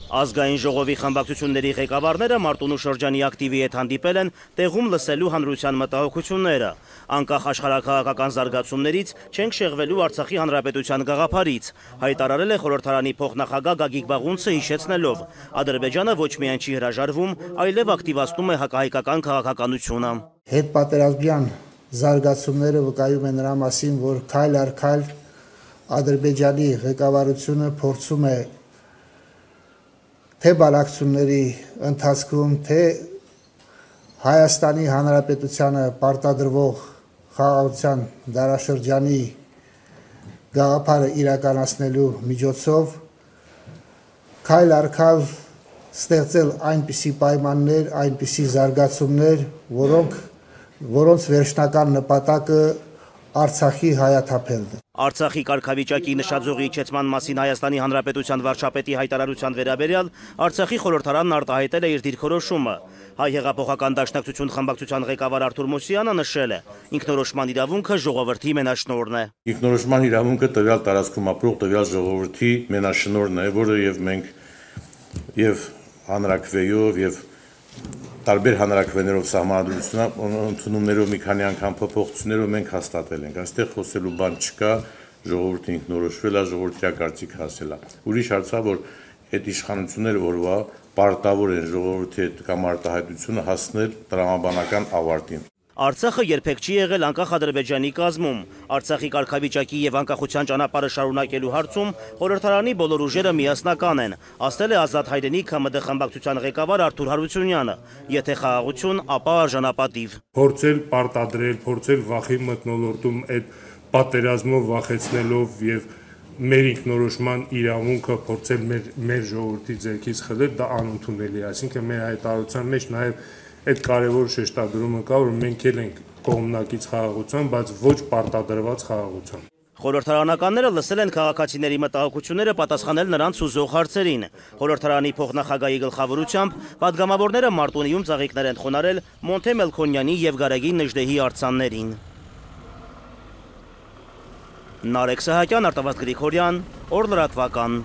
Ազգային ժողովի խմբակցությունների ղեկավարները Մարտունու շրջանի ակտիվի հետ հանդիպել են տեղում լսելու հանրության մտահոգությունները։ Անկախ աշխարհաքաղաքական զարգացումներից չենք շեղվելու Արցախի հանրապետության գաղափարից, հայտարարել է խորհրդարանի փոխնախագահ Գագիկ Բաղունցը, հիշեցնելով. Ադրբեջանը ոչ միայն չի հրաժարվում, այլև ակտիվացնում է հակահայկական քաղաքականությունը։ Հետպատերազմյան զարգացումները վկայում են նրա մասին, որ քայլ առ քայլ Ադրբեջանի ղեկավարությունը փորձում է թե բանակցությունների ընթացքում, թե Հայաստանի Հանրապետությանը պարտադրվող խաղաղության դարաշրջանի գաղափարը իրականացնելու միջոցով քայլ առ քայլ ստեղծել այնպիսի պայմաններ, այնպիսի զարգացումներ, որոնց վերջնական նպատակը Արցախի հայաթափելն է։ Արցախի կարգավիճակի նշաձողի իջեցման մասին Հայաստանի Հանրապետության վարչապետի հայտարարության վերաբերյալ Արցախի խորհրդարանն արտահայտել է իր դիրքորոշումը։ Հայ հեղափոխական դաշնակցություն խմբակցության ղեկավար Արթուր Մուսյանը նշել է. ինքնորոշման իրավունքը ժողովրդի մենաշնորհն է։ Ինքնորոշման իրավունքը տվյալ տարածքում ապրող տվյալ ժողովրդի մենաշնորհն է, որը եւ մենք եւ հանրակրվեով եւ տարբեր հանրակրվեներով սահմանադրություններով մի քանի անգամ փոփոխություններով մենք հաստատել ենք։ Այստեղ խոսելու բան չկա, ժողովուրդը ինքնորոշվել է, ժողովրդի կարծիք հասել է։ Ուրիշ հարց է, որ այդ իշխանությունները որվա պարտավոր են ժողովրդի հետ կամ արտահայտությունը հասնել տրամաբանական ավարտին։ Արցախը երբեք չի եղել անկախ Ադրբեջանի կազմում։ Արցախի կարգավիճակի եւ անկախության ճանապարհը շարունակելու հարցում խորհրդարանի բոլոր ուժերը միասնական են, ասել է Ազատ հայրենիք ՀՄԴ խմբակցության ղեկավար Արթուր Հարությունյանը։ Եթե խաղաղություն, ապա արժանապատիվ։ Փորձել պարտադրել, փորձել վախի մթնոլորտում այդ պատերազմով վախեցնելով եւ մեր ինքնորոշման իրավունքը փորձել մեր ժողովրդի ձեռքից խլել, դա անընդունելի է։ Այսինքն մեր հայտարարության մեջ նաեւ այդ կարևոր շեշտադրումը կա, որ մենք էլ ենք կողմնակից խաղաղության, բայց ոչ պարտադրված խաղաղության։ Խորհրդարանականները լսել են քաղաքացիների մտահոգությունները, պատասխանել նրանց ուզող հարցերին։ Խորհրդարանի փոխնախագահի գլխավորությամբ պատգամավորները Մարտունիում ծաղիկներ են խոնարհել Մոնթե Մելքոնյանի եւ Գարեգին Նժդեհի արձաններին։ Նարեկ Սահակյան, Արտավազդ Գրիգորյան, Օր լրատվական։